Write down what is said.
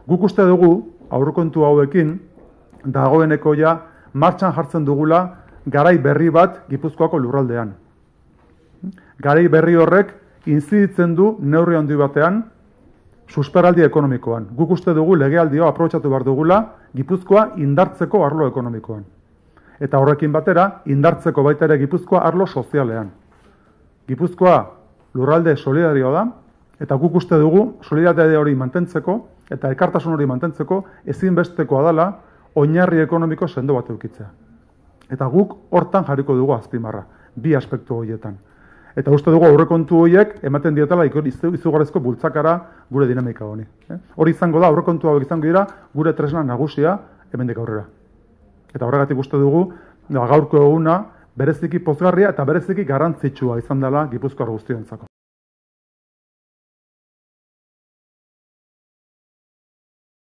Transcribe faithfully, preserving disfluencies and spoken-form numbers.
Guk uste dugu, aurrekontu hauekin, dagoeneko ja martxan jartzen dugula garai berri bat Gipuzkoako lurraldean. Garai berri horrek inziditzen du neurri handi batean susperraldi ekonomikoan. Guk uste dugu legealdia aprobetxatu behar dugula Gipuzkoa indartzeko arlo ekonomikoan. Eta horrekin batera, indartzeko baita ere Gipuzkoa arlo sozialean. Gipuzkoa lurralde solidarioa da, eta guk uste dugu solidaridade hori mantentzeko eta elkartasun hori mantentzeko ezinbestekoa dela oinarri ekonomiko sendo bat edukitzea. Eta guk hortan jarriko dugu azpimarra, bi aspektu horietan. Eta uste dugu aurrekontu horiek ematen dietela izugarrizko bultzakara gure dinamika honi. Hori izango da, aurrekontu hauek izango dira gure tresna nagusia hemendik aurrera. Eta horregatik uste dugu gaurko eguna bereziki pozgarria eta bereziki garrantzitsua izan dela Gipuzkoar guztiontzako.